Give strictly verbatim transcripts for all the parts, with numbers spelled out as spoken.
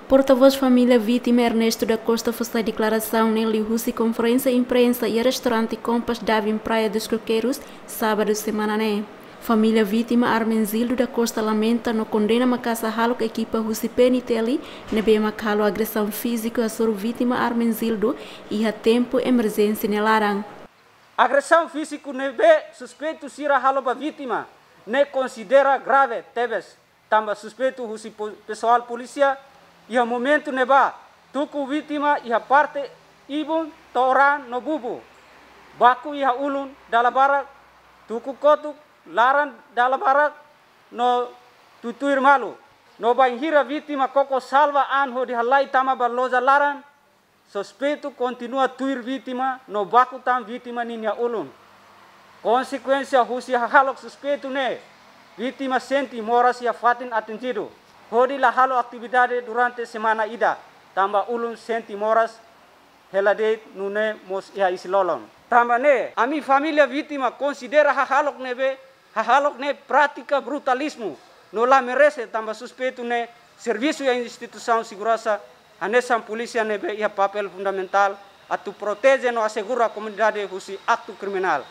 Portavós família vítima Ernesto da Costa fó sai deklarasaun ne'e liuhusi konferénsia imprensa iha restaurante Kompas Davin Praia dos Coqueiros, sábadu semana ne'e. Família vítima Armenzildo da Costa lamenta no kondena maka'as hahalok ekipa husi P N T L ne'ebé mak halo agresaun fíziku hasoru vítima Armenzildo iha tempu emerjénsia nia laran. Agresaun fíziku ne'ebé suspeitu sira halo ba vítima ne'e konsidera grave tebes, tanba suspeitu husi po-, pesoál polísia iha momentu ne'ebá tuku vítima iha parte ibun to'o raan no bubu, baku iha ulun dala barak, tuku kotuk, laran dala barak no tutuir malu. No bainhira vítima koko salva an hodi halai tama ba loja laran, suspeitu kontinua tuir vítima no baku tan vítima ninia ulun. Konsekuénsia husi hahalok suspeitu ne'e, vítima sente moras iha fatin atinjidu, hodi la halo atividade durante semana ida, tanba ulun sente moras hela de'it nune'e mós iha isin-lolon. Tanba ne'e, ami família vítima konsidera hahalok ne'ebé, hahalok ne'e prátika brutalizmu no la merese, tanba suspeitu ne'e servisu iha instituisaun seguransa, hanesan polísia ne'ebé iha papél fundamentál atu proteje no asegura komunidade husi aktu kriminál.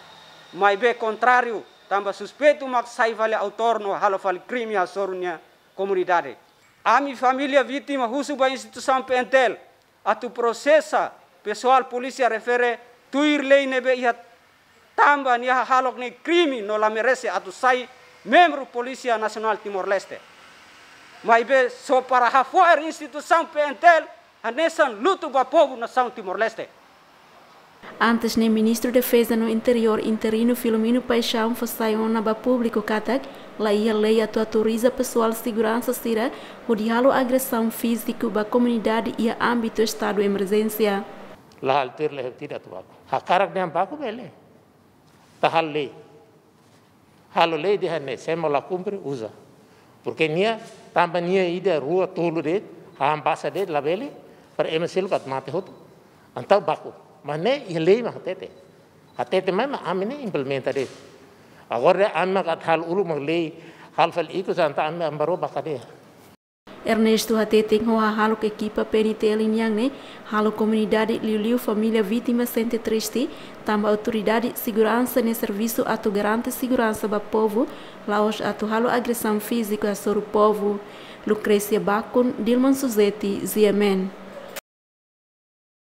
Maibé kontráriu, tanba suspeitu mak sai fali autór no halo fali krime hasoru nia komunidade. Ami família vítima husu ba instituisaun P N T L atu prosesa pesoál polísia refere tuir lei ne'ebé iha, tanba nia hahalok ne'e krime no la merese atu sai membru Polísia Nasionál Timor-Leste. Maibé só para hafo'er instituisaun P N T L hanesan lutu ba povu nasaun Timor-Leste. Antes ne'e, Ministru Defeza no Interiór interinu Filomeno Paixão fó sai ona ba públiku katak la iha lei atu autoriza pesoál seguransa sira hodi halo agresaun fíziku ba komunidade iha ámbitu estadu emerjénsia. La halo tuir lei, tidak atu baku. Hakarak dehan baku bele. Ita halo lei. Halo lei dehan ne'e, se ema la kumpre, uza. Porke nia, tanba nia ida, rua, tolu de'it, hahán basa de'it, labele, para ema seluk atu mate hotu. Entaun baku. Mas ne'e iha lei mak hatete. Hatete mai mak ami ne'e implementa de'it. Agora dehan ami mak atu halo uluk mak lei, halo fali ikus, entaun ami, ami bá rua ba kadeia. Ernesto hatete ho hahalok ekipa P N T L nian ne'e halo komunidade, liuliu família vítima sente triste, tanba autoridade seguransa ne'e servisu atu garante seguransa ba povu, la'ós atu halo agresaun fíziku hasoru povu. Lucrécia Bacon, Dilman Suzeti, G M N.